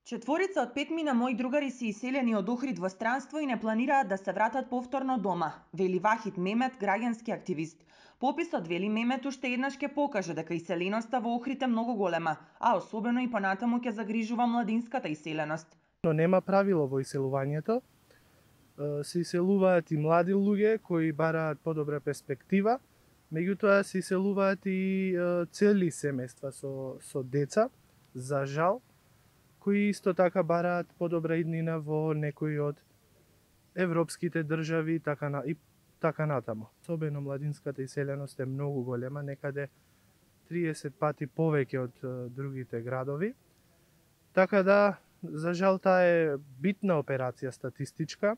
Четворица од 5 мои другари се иселени од Охрид во странство и не планираат да се вратат повторно дома, вели Вахид Мемет, граѓански активист. Пописот, вели Мемет, уште еднаш ќе покаже дека иселеноста во Охрид е многу голема, а особено и понатаму ќе загрижува младинската иселеност. Но нема правило во иселувањето. Се иселуваат и млади луѓе кои бараат подобра перспектива, меѓутоа се иселуваат и цели семејства со деца, за жал, кои исто така бараат подобра иднина во некои од европските држави и така натаму. Особено младинската иселеност е многу голема, некаде 30 пати повеќе од другите градови. Така да, за жал, таа е битна операција статистичка,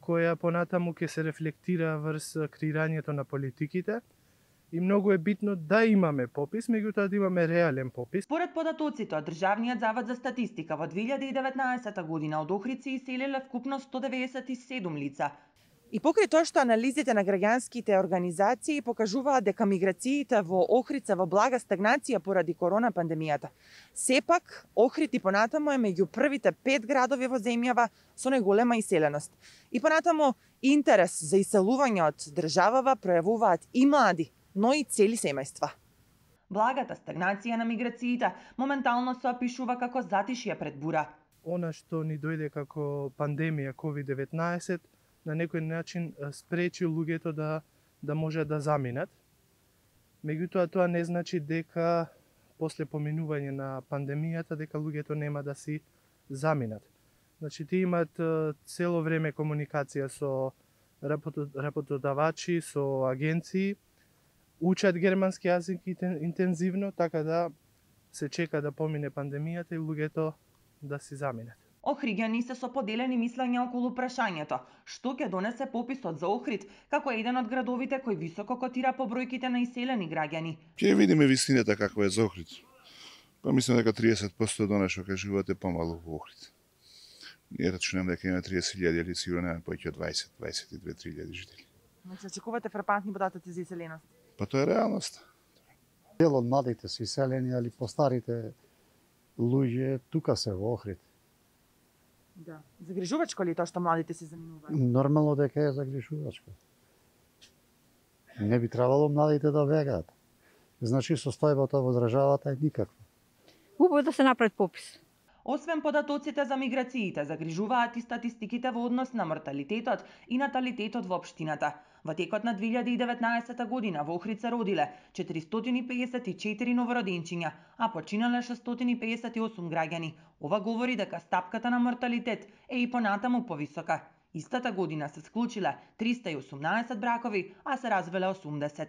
која понатаму ќе се рефлектира врз креирањето на политиките. И многу е битно да имаме попис, меѓутоа да имаме реален попис. Според податоците од Државниот завод за статистика, во 2019 година од Охрид се иселиле вкупно 197 лица. И покрај тоа што анализите на граѓанските организации покажуваат дека миграциите во Охрид се во блага стагнација поради корона пандемијата, сепак Охрид и понатаму е меѓу првите 5 градови во земјава со најголема иселеност. И понатаму интерес за иселување од државава пројавуваат и млади, но и цели семејства. Благата стагнација на миграциите моментално се опишува како затишје пред бура. Она што ни дојде како пандемија COVID-19 на некој начин спречи луѓето да може да заминат. Меѓутоа тоа не значи дека после поминување на пандемијата дека луѓето нема да си заминат. Значи тие имаат цело време комуникација со работодавачи, со агенции, учат германски јазик интензивно, така да се чека да помине пандемијата и луѓето да си заминат. Охриѓани се со поделени мислења околу прашањето што ќе донесе пописот за Охрид како еден од градовите кој високо котира по бројките на иселени граѓани. Ќе видиме вистината каква е за Охрид. Па мислам дека 30% од она што кажувате помалу во Охрид. Ние рачунам дека има 30.000 или сигурно нема повеќе од 20-22-3.000 жители. Значи очекувате фрапантни податоци за иселеност? Па тоа е реалност. Дел од младите се иселени, али постарите луѓе тука се во Охрид. Да. Загрижувачко ли е тоа што младите се заминуваат? Нормално дека е загрижувачко. Не би требало младите да бегаат. Значи состојбата во државата е никаква. Убаво да се направи попис. Освен податоците за миграциите, загрижуваат и статистиките во однос на морталитетот и наталитетот во општината. Во текот на 2019 година во Охрид се родиле 454 новороденчиња, а починале 658 граѓани. Ова говори дека стапката на морталитет е и понатаму повисока. Истата година се склучиле 318 бракови, а се развеле 80.